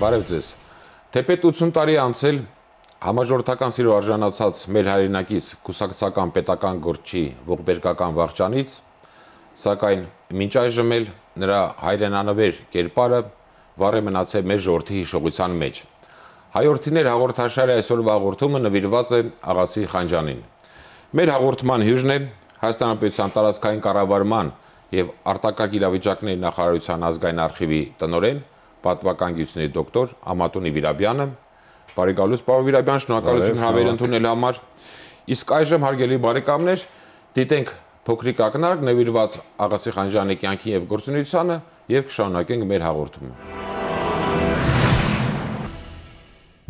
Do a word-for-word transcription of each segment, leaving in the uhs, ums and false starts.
Բարև ձեզ։ Թեպետ ութսուն տարի անցել համաժողովրդական սիրո արժանացած մեր հայրենակից կուսակցական պետական գործչի ողբերգական վախճանից, սակայն մինչ այժմ էլ նրա հայրենանվեր կերպարը վառ է մնացել մեր ժողովրդի հիշողության մեջ։ Հայորդիներ հաղորդաշարի այսօրվա հաղորդումը նվիրված է Աղասի Խանջյանին։ Մեր հաղորդման հյուրն է Հայաստան Հանրապետության տարածքային կառավարման եւ արտակարգ իրավիճակների նախարարության ազգային արխիվի տնօրեն, պատմական գիտությունների դոկտոր Ամատունի Վիրաբյանը։ Բարի գալուս, պարոն Վիրաբյան, շնորհակալություն հավեր ընդունելու համար։ Իսկ այժմ հարգելի բարեկամներ, դիտենք փոքրիկ ակնարկ նվիրված Աղասի Խանջյանի կյանքին եւ գործունեությանը եւ կշարունակենք մեր հաղորդումը։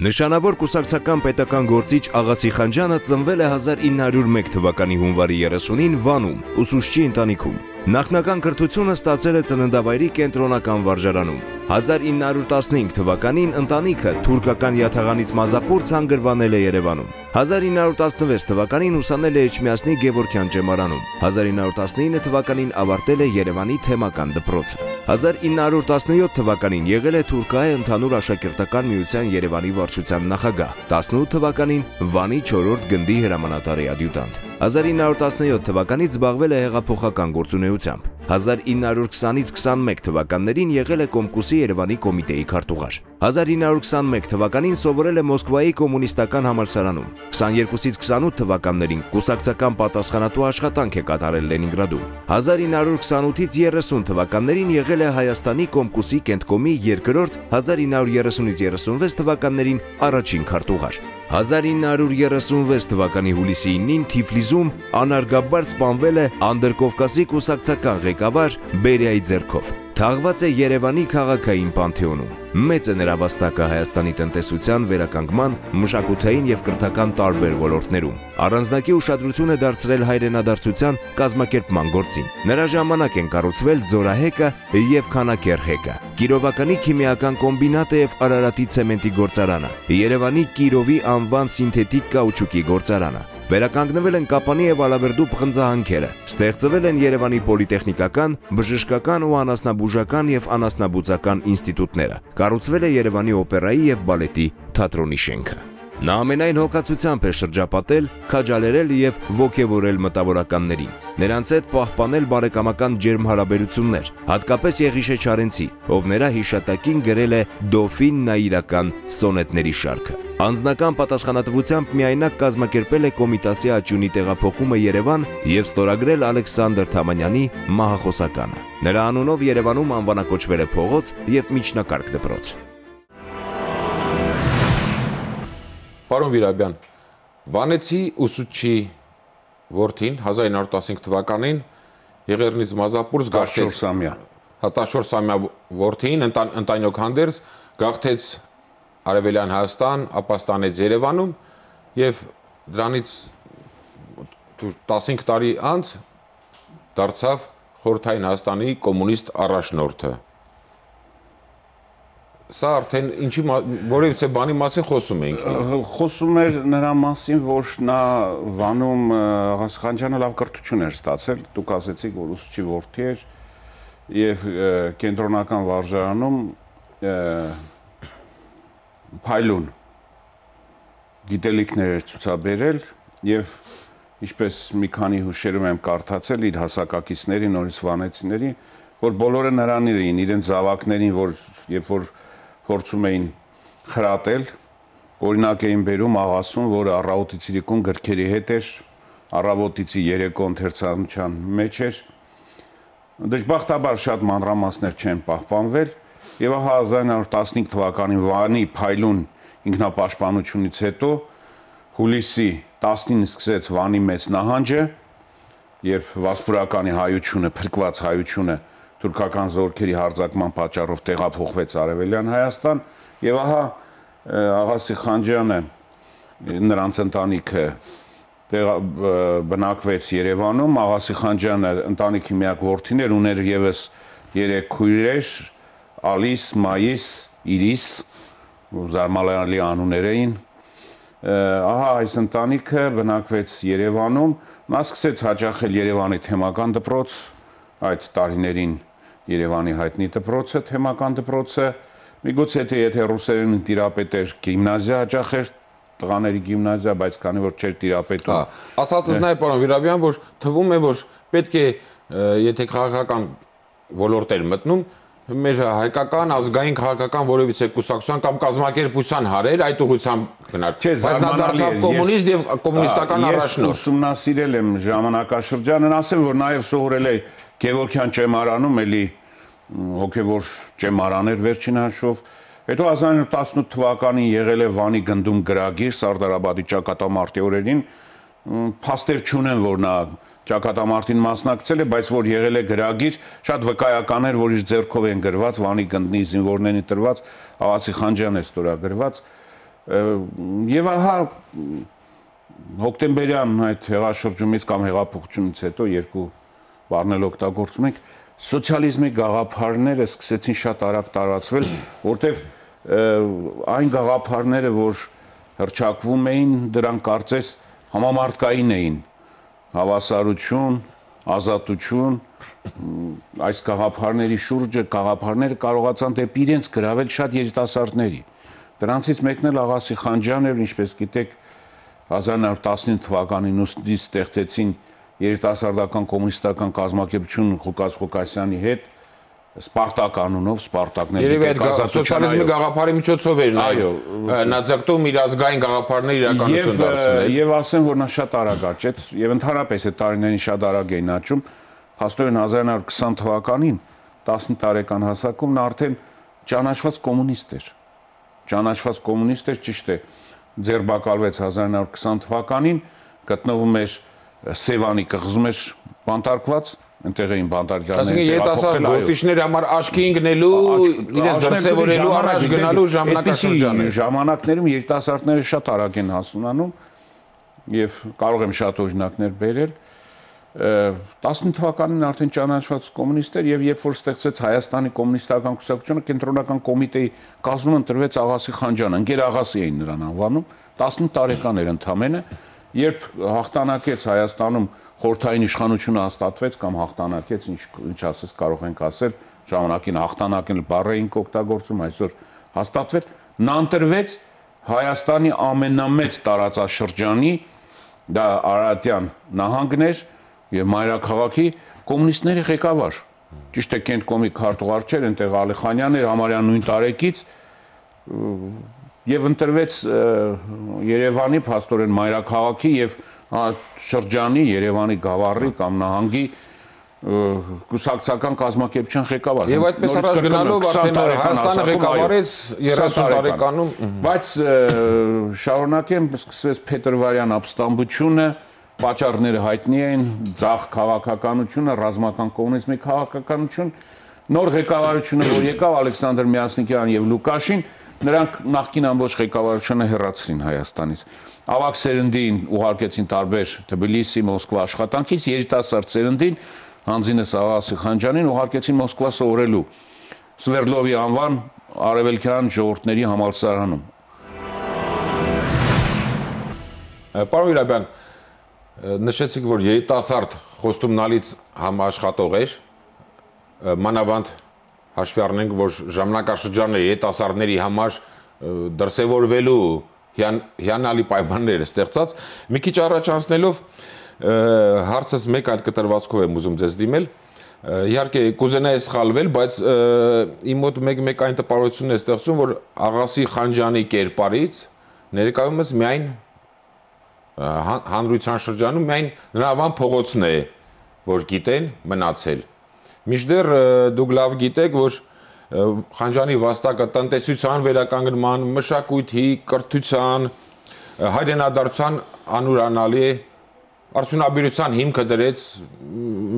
Նշանավոր կուսակցական պետական գործիչ Աղասի Խանջյանը ծնվել է հազար ինը հարյուր մեկ թվականի հունվարի երեսունին Վանում, ուսուցչի ընտանիքում։ Նախնական կրթությունը ստացել է ծննդավայրի կենտրոնական վարժարանում։ հազար ինը հարյուր տասնհինգ թվականին ընտանիքը թուրքական յաթաղանից մազապուր ցանգրվանել է Երևանում։ հազար ինը հարյուր տասնվեց թվականին ուսանել է Էջմիածնի Գևորգյան ջեմարանում։ հազար ինը հարյուր տասնինը թվականին ավարտել է Երևանի թեմական դպրոցը։ հազար ինը հարյուր տասնյոթ թվականին եղել է Թուրքահայ ընդհանուր աշակերտական միության Երևանի վարչության նախագահ։ տասնութ թվականին Վանի չորրորդ գնդի հրամանատարի ադյուտանտ։ հազար ինը հարյուր տասնյոթ թվականից զբաղվել է հեղափոխական գործունեությամբ։ հազար ինը հարյուր քսանից քսանմեկ թվականներին եղել է Կոմկուսի Երևանի կոմիտեի քարտուղար։ հազար ինը հարյուր քսանմեկ թվականին սովորել է Մոսկվայի կոմունիստական համալսարանում։ քսաներկուսից քսանութ թվականներին կուսակցական պատասխանատու աշխատանք է կատարել Լենինգրադում։ հազար ինը հարյուր քսանութից երեսուն թվականներին եղել է Հայաստանի Կոմկուսի կենտկոմի երկրորդ, հազար ինը հարյուր երեսունից երեսունվեց թվականներին առաջին քարտուղար։ հազար ինը հարյուր երեսունվեց թվականի հուլիսի ինին Թիֆլիսում անարգաբար սպանվել է Անդրկովկասի կուսակցական ղեկավար Բերիայի ձեռքով։ Թաղված է Երևանի քաղաքային պանթեոնում։ Մեծ է նրա վաստակը Հայաստանի տնտեսության վերականգնման, մշակութային եւ կրթական տարբեր ոլորտներում։ Առանձնակի ուշադրություն է դարձրել հայրենադարձության կազմակերպման գործին։ Նրա ժամանակ են կառուցվել Ձորահեկը եւ Քանաքեռհեկը, Կիրովականի քիմիական կոմբինատը եւ Արարատի ցեմենտի գործարանը, Երևանի Կիրովի անվան սինթետիկ կաուչուկի գործարանը։ Վերականգնվել են Կապանի եւ Ալավերդու պղնձահանքերը, ստեղծվել են Երևանի պոլիտեխնիկական, բժշկական ու անասնաբուժական եւ անասնաբուծական ինստիտուտները, կառուցվել է Երևանի օպերայի եւ բալետի թատրոնի շենքը։ Նա ամենայն հոգացությամբ է շրջապատել, քաջալերել եւ ոգևորել մտավորականներին, նրանց հետ պահպանել բարեկամական ջերմ հարաբերություններ, հատկապես Եղիշե Չարենցի, ով նրա հիշատակին գրել է Դոֆին նայիրական սոնետների շարքը։ Անձնական պատասխանատվությամբ միայնակ կազմակերպել է Կոմիտասի աճյունի տեղափոխումը Երևան եւ ստորագրել Ալեքսանդր Թամանյանի մահախոսականը։ Նրա անունով Երևանում անվանակոչվել է փողոց եւ միջնակարգ դպրոց։ Պարոն Վիրաբյան, Վանեցի ուսուցչի որդին հազար ինը հարյուր տասնհինգ թվականին Եղեռնից Մազապուրս գաղթեց տասնչորսամյա որդին ընտանյոք հանդերձ գաղթեց Արևելյան Հայաստան, ապա ստանեց Երևանում եւ դրանից տասնհինգ տարի անց դարձավ Խորհրդային Հայաստանի կոմունիստ առաջնորդը։ Սա արդեն ինչի որևիցե բանի մասին խոսում ենք։ Խոսում էր նրա մասին, որ նա Վանում Աղասի Խանջյանը լավ կրթություն էր ստացել, դուք ասեցիք, որ ուսուցչի որդի էր եւ կենտրոնական վարժարանում փայլուն գիտելիքներ էր ցուցաբերել եւ ինչպես մի քանի հուշերում եմ կարդացել իր հասակակիցների, նորից վանեցիների, որ բոլորը նրանից էին, իրենց զավակներին, որ երբ որ փորձում էին խրատել, օրինակ էին բերում աղասուն, որը առավոտից իրիկուն գրքերի հետ էր, առավոտիցի երեկո ընթերցանության մեջ էր։ Դժբախտաբար շատ մանրամասներ չեն պահպանվել եւ ահա հազար ինը հարյուր տասնհինգ թվականին Վանի փայլուն ինքնապաշտպանությունից հետո հուլիսի տասնինը սկսեց Վանի մեծ նահանջը, երբ Վասպուրականի հայությունը, փրկված հայությունը թուրքական զորքերի հարձակման պատճառով տեղափոխվեց Արևելյան Հայաստան եւ ահա Աղասի Խանջյանը նրանց ընտանիքը բնակվեց Երևանում։ Աղասի Խանջյանը ընտանիքի միակ որդին էր, ուներ եւս երեք քույրեր՝ Ալիս, Մայիս, Իրիս, զարմանալի անուններ էին։ Ահա այս ընտանիքը բնակվեց Երևանում, նա սկսեց հաճախել Երևանի թեմական դպրոց, այդ տարիներին Երևանի հայտնի դպրոցը, թեմական դպրոցը, միգուցե թե եթե ռուսերեն տիրապետեր գիմնազիա հաճախեր տղաների գիմնազիա, բայց քանի որ չէր տիրապետում։ Ասածս նա է պարոն Վիրաբյան, որ թվում է, որ պետք է եթե քաղաքական ոլորտ էր մտնում, մեր հայկական ազգային քաղաքական որևիցե կուսակցության կամ կազմակերպության հարեր այդ ուղղությամբ գնար։ Բայց նա դարձավ կոմունիստ եւ կոմունիստական առաջնորդ։ Ես ուսումնասիրել եմ ժամանակաշրջանն, ասեմ, որ նաեւ սովորել է Գևորգյան ճեմարանում, էլի հոգեվոր ճեմարաներ վերջին հաշվով։ Հետո հազար իննսուն տասնութ թվականին եղել է Վանի գնդում գրագիր Սարդարաբադի ճակատամարտի օրերին, փաստեր չունեն, որ նա ճակատամարտին մասնակցել է, բայց որ եղել է գրագիր, շատ վկայական էր, որ իր ձեռքով են գրված, Վանի գնդի զինվորներին տրված, Աղասի Խանջյանն է ստորագրված, եւ ահա հոկտեմբերյան այդ հեղաշրջումից կամ հեղափոխությունից հետո երկու բառնել օգտագործում ենք, սոցիալիզմի գաղափարները սկսեցին շատ արագ տարածվել, որտեվ այն գաղափարները, որ հռչակվում էին, դրանք կարծես համամարտկային էին, հավասարություն, ազատություն, այս գաղափարների շուրջը գաղափարները կարողացան դեպի իրենց գրավել շատ երիտասարդների։ Դրանցից մեկն էլ Աղասի Խանջյանն էր, ինչպես գիտեք, հազար իննսուն տասնինը թվականին ուսդից ստեղծեցին երիտասարդական կոմունիստական կազմակերպություն Ղուկաս Ղուկասյանի հետ, Սպարտակ անունով, Սպարտակն էր սոցիալիզմի գաղափարի միջոցով էր նա ձգտում իր ազգային գաղափարները իրականություն դարձնել։ Եվ ասեմ, որ նա շատ արագ աճեց, եւ ընդհանրապես այդ տարիներին շատ արագ էին աճում, փաստորեն հազար իննսուն քսան թվականին, տասնինը տարեկան հասակում նա արդեն ճանաչված կոմունիստ էր։ Ճանաչված կոմունիստ էր, ճիշտ է, ձերբակալվեց հազար իննսուն քսան թվականին, գտնվում էր Սևանի կղզում էր բանտարկված, այնտեղ էին բանտարկյալները։ Այսինքն երիտասարդ գործիչների համար աչքի ընկնելու, իրենց դրսևորելու, առաջ գնալու ժամանակաշրջան է։ Ժամանակներում երիտասարդները շատ արագ են հասունանում եւ կարող եմ շատ օրինակներ բերել։ տասնինը թվականին արդեն ճանաչված կոմունիստ էր եւ երբ որ ստեղծեց Հայաստանի կոմունիստական կուսակցությունը, կենտրոնական կոմիտեի կազմում ընտրվեց Աղասի Խանջյանը, ընկեր Աղասի էին նրան անվանում, տասնինը տարեկան էր ընդամենը, երբ հաղթանակեց Հայաստանում խորհրդային իշխանությունը հաստատվեց կամ հաղթանակեց, ինչ ինչ ասես կարող ենք ասել, ժամանակին հաղթանակել բառը ինք օգտագործում, այսօր հաստատվեց, նա ընտրվեց Հայաստանի ամենամեծ տարածաշրջանի, դա Արարատյան նահանգն էր եւ մայրաքաղաքի կոմունիստների ղեկավար։ Ճիշտ է, Կենտկոմի քարտուղար չէր, այնտեղ Ալիխանյանն էր համարյա նույն տարեկից եւ ընտրվեց Երևանի փաստորեն մայրաքաղաքի եւ շրջանի Երևանի գավառի կամ նահանգի կուսակցական կազմակերպության ղեկավար։ Եվ այդպես առաջ գնալով արդեն Հայաստանը ղեկավարեց երեսուն տարեկանում, բայց շարունակեմ, սկսվեց Փետրվարյան ապստամբությունը, պատճառները հայտնի են, ցախ քաղաքականությունը, ռազմական կոմունիզմի քաղաքականություն, նոր ղեկավարությունը, որ եկավ Ալեքսանդր Միասնիկյան եւ Լուկաշին, նրանք նախկին ամբողջ ղեկավարությունը հեռացրին Հայաստանից։ Ավագ սերնդին ուղարկեցին տարբեր Թբիլիսի, Մոսկվա աշխատանքից, երիտասարդ սերնդին Հանձինես Աղասի Խանջյանին ուղարկեցին Մոսկվա սովորելու Սվերդլովի անվան արևելքյան ժողովուրդների համալսարանում։ Պարոն Վիրաբյան, նշեցիք, որ երիտասարդ խոստումնալից համաշխատող էր, մանավանդ հաշվի առնենք, որ ժամանակաշրջանը երիտասարդների համար դրսևորվելու հիանալի պայմաններ է ստեղծած, մի քիչ առաջ անցնելով հարցս մեկ այլ կտրվածքով եմ ուզում ձեզ դիմել, իհարկե կուզենայի սխալվել, բայց իմ մոտ մեկ-մեկ այն տպավորությունն է ստեղծում, որ Աղասի Խանջյանի կերպարից ներկայումս միայն հանրության շրջանում միայն նրա անվան փողոցն է, որ գիտեն մնացել։ Մինչդեռ դուք լավ գիտեք, որ Խանջյանի վաստակը տնտեսության վերականգնման, մշակույթի, կրթության, հայրենադարձության անուրանալի արդյունաբերության հիմքը դրեց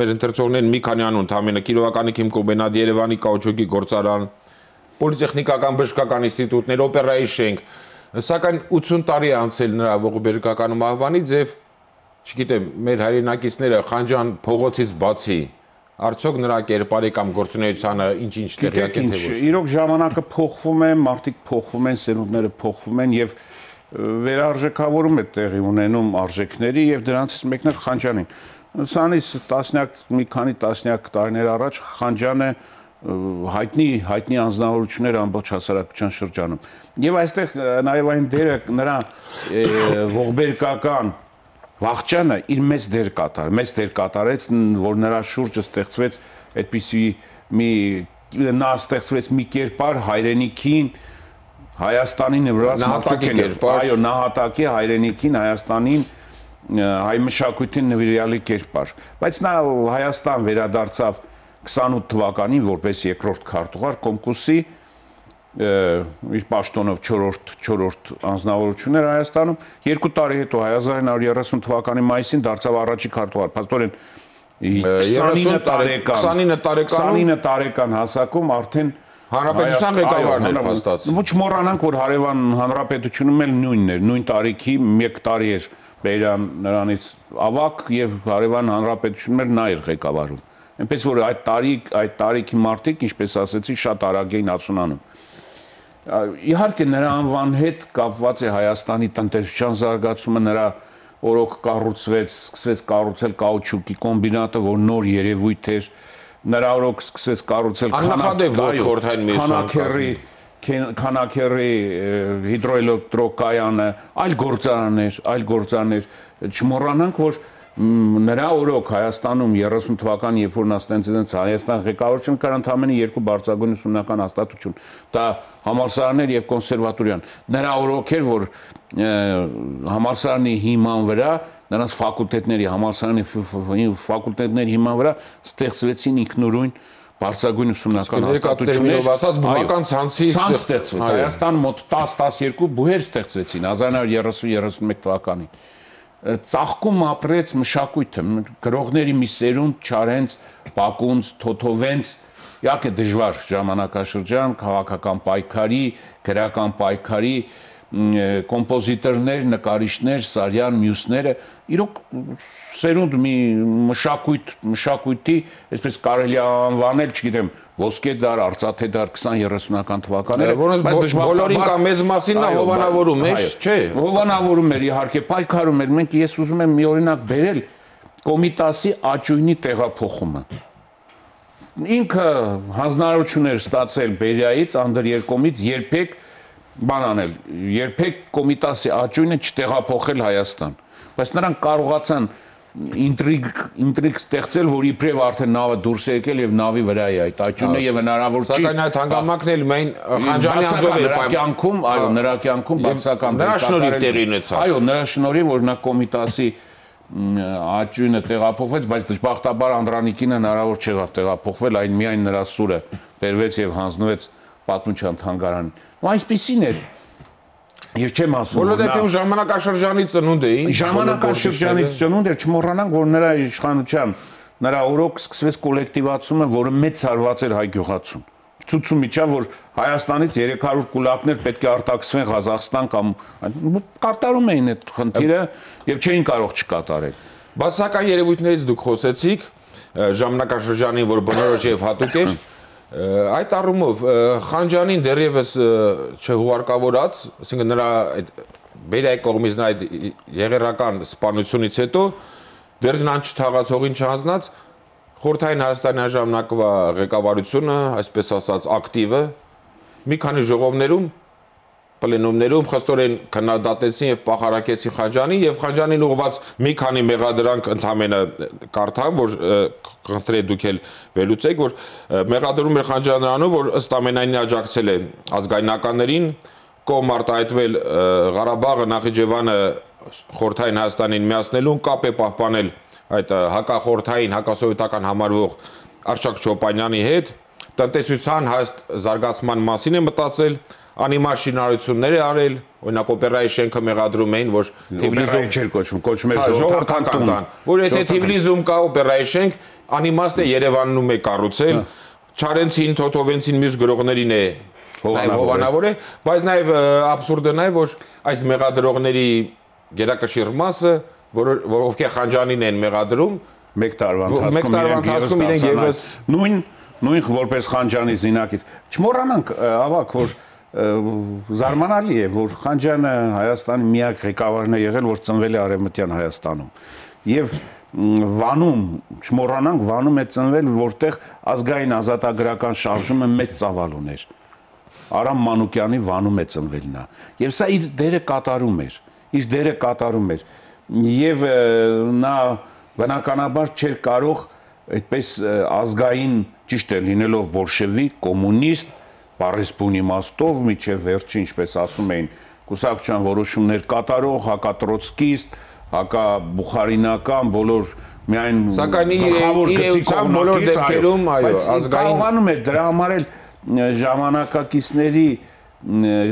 մեր ընթերցողներին մի քանի անուն, Թամենը Կիրովականի քիմկոմբինատ, Երևանի կաուչուկի գործարան, պոլիտեխնիկական բժշկական ինստիտուտներ, օպերայի շենք, սակայն ութսուն տարի է անցել նրա ողբերգական մահվանից եւ չգիտեմ, մեր հայրենակիցները Խանջյան փողոցից բացի արդյոք նրա կերպարի կամ գործունեությանը ինչ-ինչ տեղյակ են թե ոչ։ Իրոք ժամանակը փոխվում է, մարդիկ փոխվում են, սերունդները փոխվում են եւ վերարժեքավորում է տեղի ունենում արժեքների եւ դրանցից մեկն է Խանջյանին։ Սանից տասնյակ մի քանի տասնյակ տարիներ առաջ Խանջյանը հայտնի հայտնի անձնավորություններ ամբողջ հասարակության շրջանում։ Եվ այստեղ նաև այն դերը նրա ողբերգական վախճանը իր մեծ դեր կատար, մեծ դեր կատարեց, որ նրա շուրջը ստեղծվեց այդպիսի մի նա ստեղծվեց մի կերպար հայրենիքին Հայաստանի նվիրված մարդկային կերպար, այո, նահատակի հայրենիքին Հայաստանին հայ մշակույթին նվիրյալի կերպար, բայց նա Հայաստան վերադարձավ քսանութ թվականին որպես երկրորդ քարտուղար Կոմկուսի իր պաշտոնով չորրորդ անձնավորություն էր Հայաստանում, երկու տարի հետո հազար ինը հարյուր երեսուն թվականի մայիսին դարձավ առաջի քարտուղար, փաստորեն քսանինը տարեկան հասակում արդեն Հանրապետության ղեկավարն էր փաստած։ Չմոռանանք, որ հարևան հանրապետությունում էլ նույնն էր, նույն տարիքի մեկ տարի էր Բերյան նրանից ավակ եւ հարևան հանրապետությունում էլ նա էր ղեկավարում։ Այնպես որ այդ տարի այդ տարիքի մարդիկ, ինչպես ասեցի, շատ արագ էին ացունանում։ Իհարկե նրա անվան հետ կապված է Հայաստանի տնտեսության զարգացումը, նրա օրոք կառուցվեց, սկսվեց կառուցել կաուչուկի կոմբինատը, որ նոր երևույթ էր, նրա օրոք սկսեց կառուցել քանաքեռի քանաքեռի հիդրոէլեկտրոկայանը, այլ գործարաններ, այլ գործարաններ, չմոռանանք, որ նրա օրոք Հայաստանում երեսուն թվականին, երբ որ նա ստեղծեց Հայաստան ղեկավարությունը, կար ընդամենը երկու բարձրագույն ուսումնական հաստատություն, դա համալսարաններ եւ կոնսերվատորիան։ Նրա օրոք էր, որ համալսարանի հիման վրա, նրանց ֆակուլտետների, համալսարանի ֆակուլտետների հիման վրա ստեղծվեցին ինքնուրույն բարձրագույն ուսումնական հաստատություններ, ասած բավական ցանցի ստեղծվեց։ Հայաստան մոտ տասը տասներկու բուհեր ստեղծվեցին հազար ինը հարյուր երեսուն երեսունմեկ թվականին։ Ծաղկում ապրեց մշակույթը, գրողների մի սերունդ չարենց, Բակունց, Թոթովենց, իհարկե դժվար ժամանակաշրջան, քաղաքական պայքարի, գրական պայքարի, կոմպոզիտորներ, նկարիչներ, Սարյան, մյուսները, իրոք սերունդ մի մշակույթ, մշակույթի, այսպես կարելի է անվանել, չգիտեմ, ոսկե դար, արծաթե դար քսան երեսունական թվականները, բայց բոլորին կամ մեծ մասին նա հովանավորում էր, չէ։ Հովանավորում էր, իհարկե, պայքարում էր, մենք ես ուզում եմ մի օրինակ բերել Կոմիտասի աճույնի տեղափոխումը։ Ինքը հանձնարարություն էր ստացել Բերիայից, Անդրերկոմից երբեք բան անել, երբեք Կոմիտասի աճույնը չտեղափոխել Հայաստան, բայց նրանք կարողացան ինտրիգ ինտրիգ ստեղծել, որ իբրև արդեն նավը դուրս է եկել եւ նավի վրա է այդ աճյունը եւ հնարավոր չի։ Սակայն այդ հանգամանքն էլ մեն Խանջանի անձով էր կյանքում, այո, նրա կյանքում բացական նրա շնորհիվ տեղի ունեցավ։ Այո, նրա շնորհիվ, որ նա Կոմիտասի աճյունը տեղափոխվեց, բայց դժբախտաբար Անդրանիկին հնարավոր չեղավ տեղափոխվել, այն միայն նրա սուրը բերվեց եւ հանձնվեց պատմության թանգարանին։ Ու այսպեսին էր։ Ես չեմ ասում, բոլոր դեպքում ժամանակաշրջանի ծնունդ է, ժամանակաշրջանի ծնունդ է, չմոռանանք, որ նրա իշխանության, նրա օրոք սկսվեց կոլեկտիվացումը, որը մեծ հարված էր հայ գյուղացուն։ Ցույցում իջավ, որ Հայաստանից երեք հարյուր կուլակներ պետք է արտաքսվեն Ղազախստան կամ կատարում էին այդ խնդիրը եւ չէին կարող չկատարել։ Բացական երևույթներից դուք խոսեցիք, ժամանակաշրջանին, որ բնորոշ եւ հատուկ էր, այդ առումով Խանջանին դեռևս չհուարկավորած, ասենք նրա այդ Բերիայի կողմից նա այդ եղերական սպանությունից հետո դեռ նրան չթաղացողին չհանձնած Խորհրդային Հայաստանի ժամանակվա ղեկավարությունը, այսպես ասած, ակտիվը մի քանի ժողովներում, պլենումներում խստորեն քննադատեցին եւ պախարակեցին Խանջանին եւ Խանջանին ուղղված մի քանի մեղադրանք ընդամենը կարդամ, որ խնդրե դուք էլ վերլուծեք, որ մեղադրում էր Խանջանը նրանով, որ ըստ ամենայնի աջակցել է ազգայնականներին, կողմ արտահայտվել Ղարաբաղը, Նախիջևանը Խորհրդային Հայաստանին միացնելուն, կապ է պահպանել այդ հակախորհրդային, հակասովետական համարվող Արշակ Չոպանյանի հետ, տնտեսության հաստ զարգացման մասին է մտածել, անիմար շինարարություններ է արել, օրինակ օպերայի շենքը մեղադրում էին, որ Թիֆլիսում չէր կոչվում, կոչվում էր ժողովրդական տուն, որ եթե Թիֆլիսում կա օպերայի շենք, անիմաստ է Երևանում է կառուցել, Չարենցին, Թոթովենցին, մյուս գրողներին է հովանավոր է, բայց նաև աբսուրդը նաև, որ այս մեղադրողների գերակշիռ մասը, որ ովքեր Խանջանին են մեղադրում, մեկ տարվա ընթացքում իրենք եւս նույն նույն որպես Խանջանի զինակից։ Չմոռանանք, ավակ, որ զարմանալի է, որ Խանջանը Հայաստանի միակ ղեկավարն է եղել, որ ծնվել է Արևմտյան Հայաստանում։ Եվ Վանում, չմոռանանք, Վանում է ծնվել, որտեղ ազգային ազատագրական շարժումը մեծ ծավալ ուներ։ Արամ Մանուկյանի Վանում է ծնվել նա։ Եվ սա իր դերը կատարում էր, իր դերը կատարում էր։ Եվ նա բնականաբար չէր կարող այդպես ազգային, ճիշտ է, լինելով բոլշևիկ, կոմունիստ, բառեսպուն իմաստով, միջև վերջին, ինչպես ասում էին, կուսակցության որոշումներ կատարող, հակատրոցկիստ, հակաբուխարինական, բոլոր միայն գլխավոր գծի բոլոր դեպքերում, այո, ազգային կարողանում էր դրա համար էլ ժամանակակիցների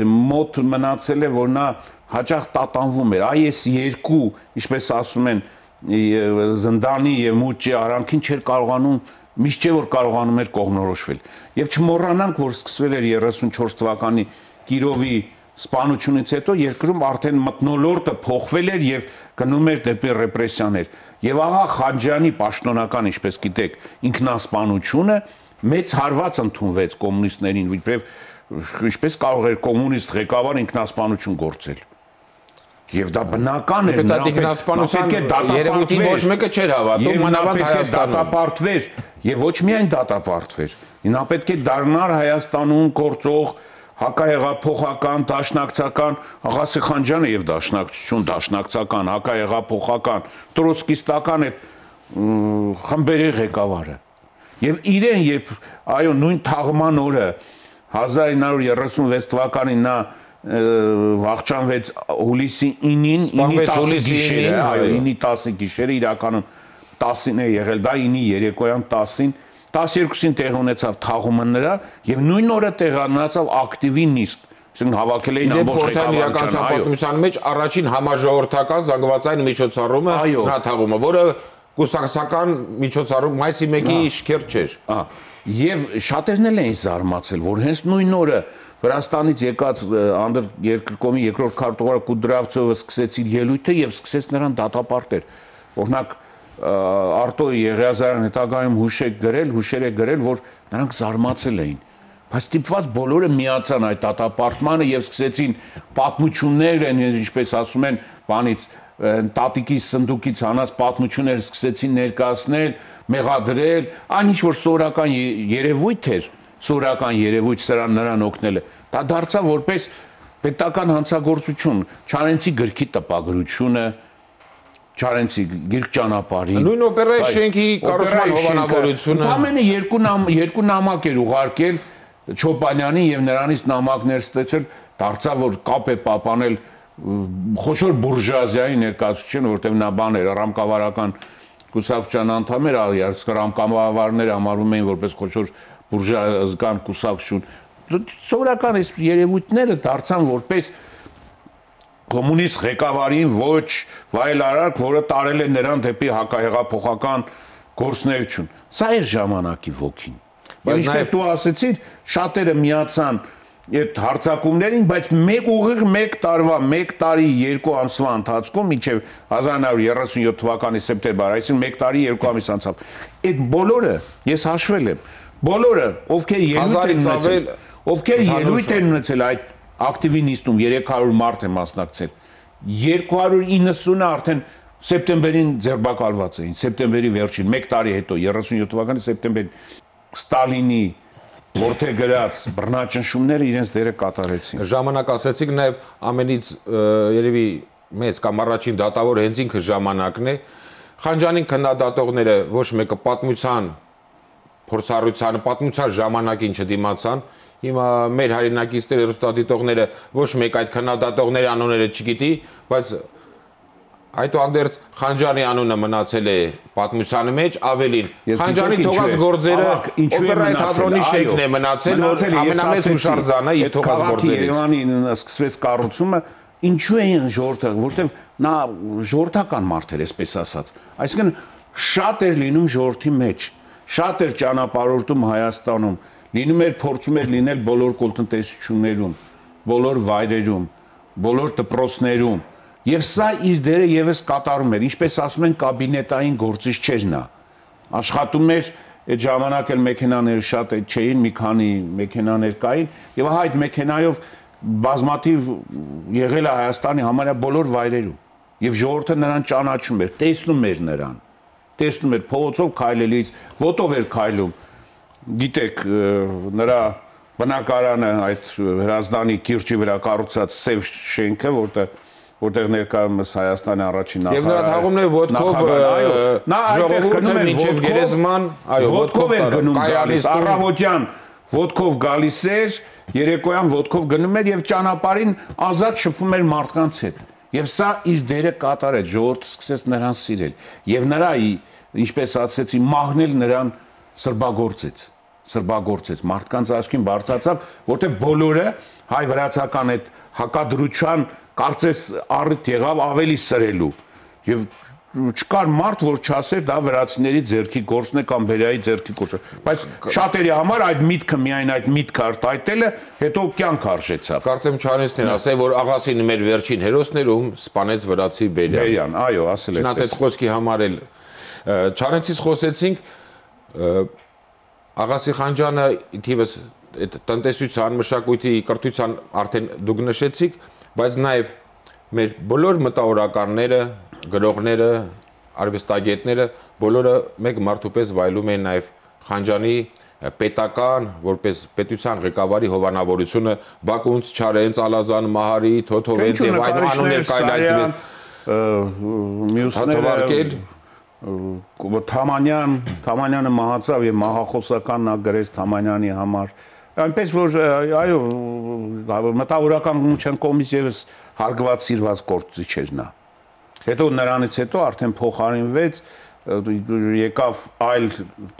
մոտ մնացել է, որ նա հաճախ տատանվում էր, այ այս երկու, ինչպես ասում են, զնդանի եւ մուճի արանքին չէր կարողանում, միշտ չէ որ կարողանում էր կողմնորոշվել։ Եվ չմոռանանք, որ սկսվել էր երեսունչորս թվականի Կիրովի սպանությունից հետո երկրում արդեն մթնոլորտը փոխվել էր եւ գնում էր դեպի ռեպրեսիաներ։ Եվ ահա Խանջյանի պաշտոնական, ինչպես գիտեք, ինքնասպանությունը մեծ հարված ընդունվեց կոմունիստներին, որովհետեւ ինչպես կարող էր կոմունիստ ղեկավար ինքնասպանություն գործել։ Եվ դա բնական էր, նա ինքնասպանության երևույթին ոչ մեկը չէր հավատում, մանավանդ Հայաստանում դատապարտվեր եւ ոչ միայն դատապարտվեր։ Նա պետք է դառնար Հայաստանում գործող հակահեղափոխական, դաշնակցական, Աղասի Խանջյանը եւ դաշնակցություն, դաշնակցական, հակահեղափոխական, տրոցկիստական այդ խմբերի ղեկավարը։ Եվ իրեն, երբ այո, նույն թաղման օրը հազար ինը հարյուր երեսունվեց թվականին նա վախճանվեց հուլիսի ինին, ինի տասի գիշերը, այո, ինի տասի գիշերը, իրականում տասին է եղել, դա ինի երեկոյան տասին, տասներկուսին տեղ ունեցավ թաղումը նրա եւ նույն օրը տեղանացավ ակտիվի նիստ, այսինքն հավաքել էին ամբողջ ղեկավարության պատմության մեջ առաջին համաժողովրդական զանգվածային միջոցառումը նա թաղումը, որը կուսակցական միջոցառում մայիսի մեկի շքերթ չէր։ Եվ շատերն էլ էին զարմացել, որ հենց նույն օրը Վրաստանից եկած անդրերկրկոմի երկրորդ քարտուղար Կուդրավցովը սկսեց իր ելույթը եւ սկսեց նրան դատապարտել։ Օրինակ Արտո Եղիազարյան հետագայում հուշեր գրել, հուշեր է գրել, որ նրանք զարմացել էին։ Բայց ստիպված բոլորը միացան այդ դատապարտմանը եւ սկսեցին պատմություններ, ինչպես ասում են, բանից տատիկի սնդուկից հանած պատմություններ սկսեցին ներկայացնել, մեղադրել, այն ինչ որ սովորական երևույթ էր, սովորական երևույթ սրան նրան օգնել է։ Դա դարձավ որպես պետական հանցագործություն, Չարենցի գրքի տպագրությունը, Չարենցի գիրք ճանապարհին։ Նույն օպերայի շենքի կառուցման հովանավորությունը։ Ամենը երկու երկու նամակ էր ուղարկել Չոպանյանին եւ նրանից նամակներ ստեցել, դարձավ որ կապ է պահպանել խոշոր բուրժուազիայի ներկայացուցիչը, որտեղ նա բան էր, ռամկավարական կուսակցության անդամ էր, ռամկավարները համարվում էին որպես խոշոր բուրժուազական կուսակցություն։ Սովորական այս երևույթները դարձան որպես կոմունիստ ղեկավարին ոչ վայելարարք, որը տարել է նրան դեպի հակահեղափոխական գործունեություն։ Սա էր ժամանակի ոգին։ Բայց ինչպես դու ասեցիր, շատերը միացան այդ հարձակումներին, բայց մեկ ուղիղ մեկ տարվա, մեկ տարի երկու ամսվա ընթացքում մինչև հազար ինը հարյուր երեսունյոթ թվականի սեպտեմբեր, այսինքն մեկ տարի երկու ամիս անցավ։ Այդ բոլորը ես հաշվել եմ, բոլորը, ովքեր ելույթ են ունեցել, ովքեր ելույթ են ունեցել այդ ակտիվի նիստում երեք հարյուր մարդ է մասնակցել, երկու հարյուր իննսունը արդեն սեպտեմբերին ձերբակալված էին, սեպտեմբերի վերջին, մեկ տարի հետո, երեսունյոթ թվականի սեպտեմբերին Ստալինի որթե գրած բռնաճնշումները իրենց դերը կատարեցին։ Ժամանակ ասեցիք նաև ամենից երևի մեծ կամ առաջին դատավոր հենց ինքը ժամանակն է։ Խանջյանին քննադատողները ոչ մեկը պատմության փորձառության, պատմության ժամանակին չդիմացան։ Հիմա մեր հայրենակիցները, հեռուստադիտողները ոչ մեկ այդ քննադատողների անունները չգիտի, բայց այդուհանդերձ Խանջյանի անունը մնացել է պատմության մեջ, ավելին Խանջյանի թողած գործերը օպերայի թատրոնի շենքն է մնացել, որ ամենամեծ հուշարձանը իր թողած գործերից։ Երևանի սկսվեց կառուցումը, ինչու էին ժողովրդը, որտեղ նա ժողովրդական մարդ էր, այսպես ասած։ Այսինքն շատ էր լինում ժողովրդի մեջ, շատ էր ճանապարհորդում Հայաստանում, լինում էր փորձում էր լինել բոլոր կոլտնտեսություններում, բոլոր վայրերում, բոլոր դպրոցներում։ Եվ սա իր դերը եւս կատարում էր, ինչպես ասում են, կաբինետային գործիչ չէր նա։ Աշխատում էր, այդ ժամանակ էլ մեքենաները շատ չէին, մի քանի մեքենաներ կային, եւ ահա այդ մեքենայով բազմաթիվ եղել է Հայաստանի համարյա բոլոր վայրերում։ Եվ ժողովուրդը նրան ճանաչում էր, տեսնում էր նրան։ տեսնում էր փողոցով քայլելիս, ոտով էր քայլում։ Գիտեք, նրա բնակարանը այդ Հրազդանի կիրճի վրա կառուցած սև շենքը, որտեղ որտեղ ներկայումս Հայաստանի առաջին նախագահ։ Եվ նրա թաղումն է ոտքով, նա այդտեղ գնում էր մինչև գերեզման, այո, ոտքով էր գնում գալիս, առավոտյան ոտքով գալիս էր, երեկոյան ոտքով գնում էր եւ ճանապարհին ազատ շփվում էր մարդկանց հետ։ Եվ սա իր դերը կատարեց, ժողովուրդը սկսեց նրան սիրել։ Եվ նրա, ինչպես ասեցի, մահն էլ նրան սրբագործեց, սրբագործեց, մարդկանց աչքին բարձրացավ, որտեղ բոլորը հայ-վրացական այդ հակադրության կարծես առիթ եղավ ավելի սրելու։ Եվ չկար մարդ, որ չասեր դա վրացիների ձեռքի գործն է կամ բերայի ձեռքի գործը։ Բայց շատերի համար այդ միտքը միայն այդ միտքը արտահայտելը հետո կյանք արժեցավ։ Կարծեմ Չարենցն ասել, որ աղասին մեր վերջին հերոսներում սպանեց վրացի Բերյան։ Բերյան, այո, ասել է։ Շնորհ այդ խոսքի համար էլ Չարենցից խոսեցինք, Աղասի Խանջյանը թիվս այդ տնտեսության, մշակույթի, կրթության արդեն դուք նշեցիք, բայց նաև մեր բոլոր մտավորականները, գրողները, արվեստագետները բոլորը մեկ մարդու պես վայելում են նաև Խանջյանի պետական, որպես պետության ղեկավարի հովանավորությունը Բակունց, Չարենց, Ալազան, Մահարի, Թոթովենց եւ այլ անուններ կայլայթել, մյուսները Թամանյան, Թամանյանը մահացավ եւ մահախոսական նա գրեց Թամանյանի համար։ Այնպես որ այո, մտավորական գումչան կողմից եւս հարգված սիրված գործիչ էր նա։ Հետո նրանից հետո արդեն փոխարինվեց, եկավ այլ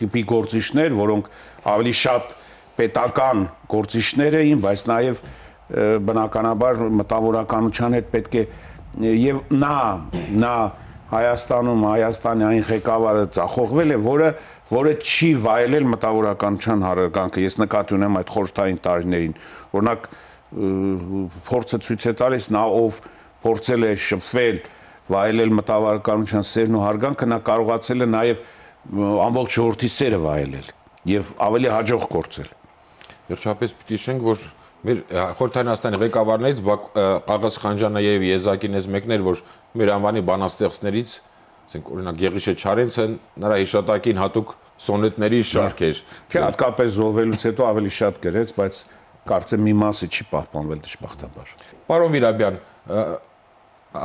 տիպի գործիչներ, որոնք ավելի շատ պետական գործիչներ էին, բայց նաեւ բնականաբար մտավորականության հետ պետք է եւ նա նա Հայաստանում Հայաստանի այն ղեկավարը ծախողվել է, որը որը չի վայելել մտավորականության հարկանքը։ Ես նկատի ունեմ այդ խորհրդային տարիներին։ Օրինակ փորձը ցույց է տալիս նա ով փորձել է շփվել, վայելել մտավորականության սերն ու հարգանքը, նա կարողացել է նաև ամբողջ ժողովրդի սերը վայելել եւ ավելի հաջող գործել։ Վերջապես պիտի շենք, որ մեր խորհրդային Հայաստանի ղեկավարներից Աղաս Խանջյանը եւ Եզակին էս մեկն էր, որ մեր անվանի բանաստեղծներից, ասենք օրինակ Գեղիշե Չարենցը նրա հիշատակին հատուկ սոնետների շարք էր։ Չէ, հատկապես զոհվելուց հետո ավելի շատ գրեց, բայց կարծեմ մի մասը չի պահպանվել դժբախտաբար։ Պարոն Վիրաբյան,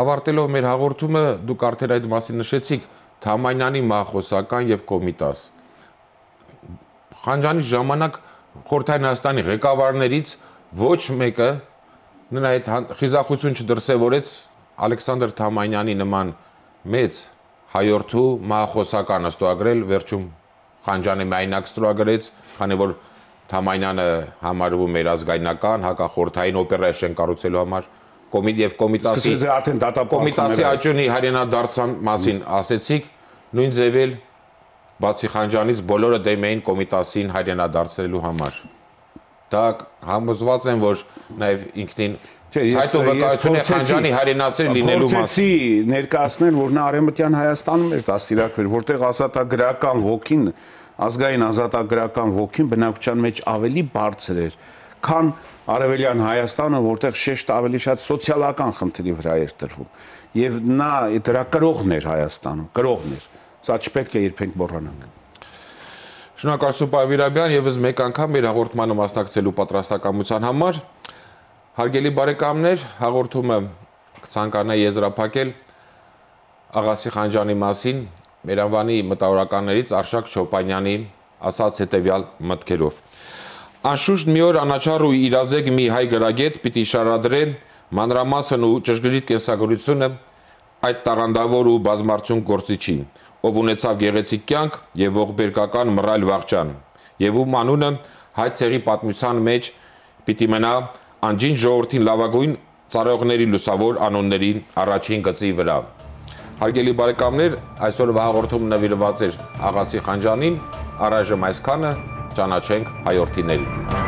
ավարտելով մեր հաղորդումը, դուք արդեն այդ մասին նշեցիք, Թամանյանի մահխոսական եւ Կոմիտաս։ Խանջյանի ժամանակ խորհրդային Հայաստանի ղեկավարներից ոչ մեկը նրա այդ խիզախություն չդրսևորեց Ալեքսանդր Թամանյանի նման մեծ հայորդու մահախոսականը ստորագրել, վերջում Խանջյանը միայնակ ստորագրեց, քանի որ Թամանյանը համարվում էր ազգայնական, հակախորհրդային օպերացիա կառուցելու համար, եւ Կոմիտասի արդեն Կոմիտասի աճյունի հայրենադարձան մասին ասեցիք, նույն ձևել բացի Խանջյանից բոլորը դեմ էին Կոմիտասին հայրենադարձելու համար։ Դա համոզված եմ, որ նաև ինքնին Այդ վկայությունը Խանջյանի հայրենասեր լինելու մասին։ Փորձեցի ներկայացնել, որ նա Արևմտյան Հայաստանում էր դաստիարակվել, որտեղ ազատագրական ոգին, ազգային ազատագրական ոգին բնակչության մեջ ավելի բարձր էր, քան Արևելյան Հայաստանը, որտեղ շեշտը ավելի շատ սոցիալական խնդրի վրա էր տրվում։ Եվ նա դրա կրողն էր Հայաստանում, կրողն էր։ Սա չպետք է երբեք մոռանանք։ Շնորհակալություն պարոն Վիրաբյան, եւս մեկ անգամ մեր հաղորդմանը մասնակցելու պատրաստակամության համար։ Հարգելի բարեկամներ, հաղորդումը կցանկանա եզրափակել Աղասի Խանջյանի մասին մեր անվանի մտավորականներից Արշակ Չոպանյանի ասած հետևյալ մտքերով։ Անշուշտ մի օր անաչառ ու իրազեկ մի հայ գրագետ պիտի շարադրե մանրամասն ու ճշգրիտ կենսագրությունը այդ տաղանդավոր ու բազմարդյուն գործիչի, ով ունեցավ գեղեցիկ կյանք եւ ողբերգական մռայլ վաղճան, եւ ում անունը հայ ցեղի պատմության մեջ պիտի մնա անջին ժողովրդին լավագույն ծառայողների լուսավոր անունների առաջին գծի վրա։ Հարգելի բարեկամներ, այսօրվա հաղորդումը նվիրված էր Աղասի Խանջյանին, առայժմ այսքանը, ճանաչենք հայորդիներին։